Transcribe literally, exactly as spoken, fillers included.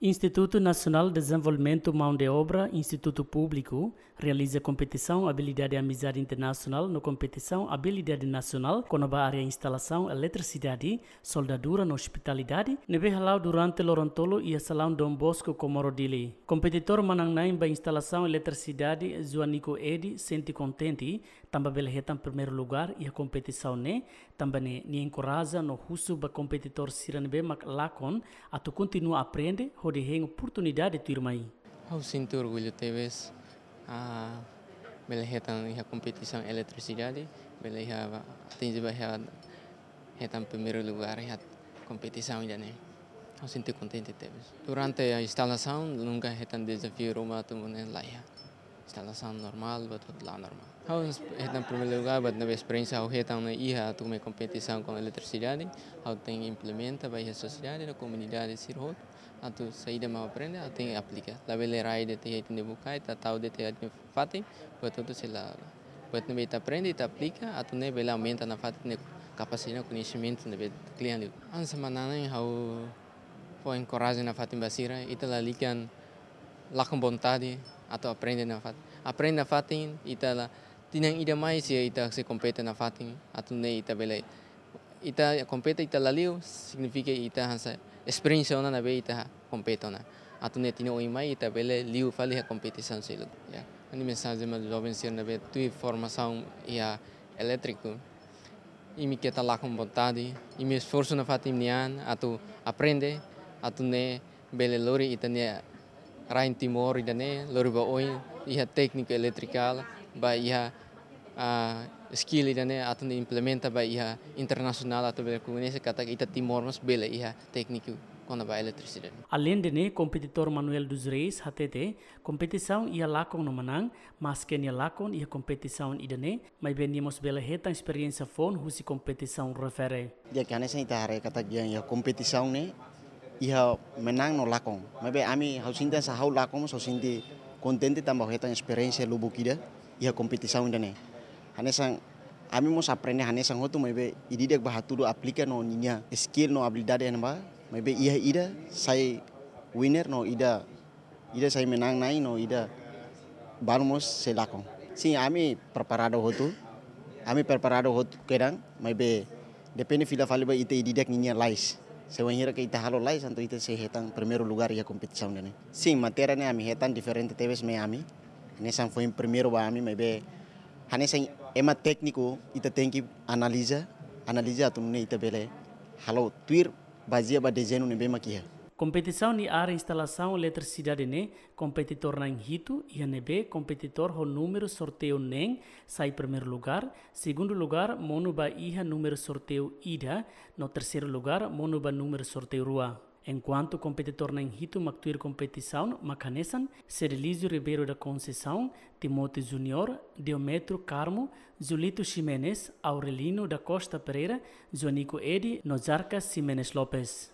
Institutu Nasionál Dezenvolvimentu Maun de Obra, Institutu Públiku, realiza kompetisaun Abilidade Amizade Internasionál no kompetisaun Abilidade Nasionál kona-ba área instalasaun eletrisidade, soldadura no ospitalidade, ne'ebé hala'o durante loron tolu iha Salaun Don Bosco, Comoro, Dili. Kompetitór manán-na'in ba instalasaun eletrisidade, Joanico Edi, sente kontente tanba bele hetan primeiru lugár iha kompetisaun ne'e, tanba ne'e nia enkoraja no husu ba kompetitór sira ne'ebé mak lakon atu kontinua aprende hodi hein oportunidade tuirmai. Ha'u sente orgullu tebes, ah, bele hetan iha kompetisaun eletrisidade, bele iha atinje ba iha hetan primeiru lugár iha kompetisaun ida-ne'e. Ha'u sente kontente tebes. Durante a instalasaun, nunka hetan dezafiu ruma atu mone laiha. Instalasaun normál, buat hotu la'o normál. Ha'u hetan primeiru lugár, buat ne'ebé esperiénsia ha'u hetan ne'e iha atu mai kompetisaun kona-ba eletrisidade, ha'u tenke implementa ba iha sosiedade no komunidade sira hotu, atu saida mak aprende, atu tenke aplika. Labele rai de'it iha ita-nia bukae, ita tau de'it iha ita-nia fatin, buat hotu sei la. Buat ne'ebé ita aprende, ita aplika, atu nune'e bele aumenta nafatin ita-nia kapasidade, koñesimentu ne'ebé kle'an liu. Hanesan manán-na'in ha'u fó enkoraja nafatin ba sira, ita lalika lakon vontade atu aprende nafatin. Aprende nafatin, ita la, tinan ida mai sei ita sei kompete nafatin, atu nune'e ita bele. Ita kompete ita la liu, signifika ita hanesan esperiénsia ona ne'ebé ita kompete ona. Atu nune'e tinan oin mai ita bele liu fali iha kompetisaun seluk. Ya. Ha'u-nia mensajen ba joven sira ne'ebé tuir formasaun iha elétriku. Imi keta lakon vontade, imi esforsu nafatin imi-nian atu aprende, atu nune'e bele lori ita-nia rain Timor ida-ne'e, lori ba oin, iha tékniku elétrikál, ba iha, ah, skill ida-ne'e atu nune'e implementa ba iha internasionál atu bele koñese katak ita Timor mós bele iha tékniku kona-ba eletrisidade. Aleinde ne'e, kompetitór Manuel dos Reis hatete, kompetisaun iha lakon no manán, maske nia lakon iha kompetisaun ida-ne'e, maibé nia mós bele hetan esperiénsia foun husi kompetisaun refere. Di'ak, hanesan ita haree katak iha, iha kompetisaun ne'e, iha manán no lakon. Maibé ami, ha'u sente hanesan ha'u lakon, ha'u sente kontente tanba ha'u hetan esperiénsia lubuk ida iha kompetisaun ida-ne'e. Hanesan ami mós aprende hanesan hotu, maibé ida-idak bá hatudu aplika no ninia skill no abilidade iha ne'ebá, maibé iha ida sai winner no ida ida sai manán-na'in no ida balu mós sei lakon. Sin, ami preparadu hotu. Ami preparadu hotu kedan, maibé depende fila fali ba ita ida-idak ninia lais. Se wainhira ke ita halo lais, entaun ita sei hetan primeiru lugár iha kompetisaun ida-ne'e. Sin, matéria ne'e ami hetan diferente tebes mai ami. Hanesan foin primeiru ba ami, maibé hanesan ema tékniku ita tenke analiza, analiza atu nune'e ita bele halo tuir bazeia ba dezeñu ne'ebé mak iha. Kompetisaun iha área instalasaun eletrisidade ne'e, kompetitór na'in hitu iha ne'ebé kompetitór ho númeru sorteiu neen sai primeiru lugár, segundu lugár monu ba iha númeru sorteiu ida, no terseiru lugár monu ba númeru sorteiu rua. Enkuantu kompetitór na'in hitu mak tuir kompetisaun mak hanesan, Cedelísio Ribeiro da Conceição, Timóteo Júnior, Diometro Carmo, Julito Ximenes, Aurelino da Costa Pereira, Joanico Edi, no Jarcas Ximenes Lopes.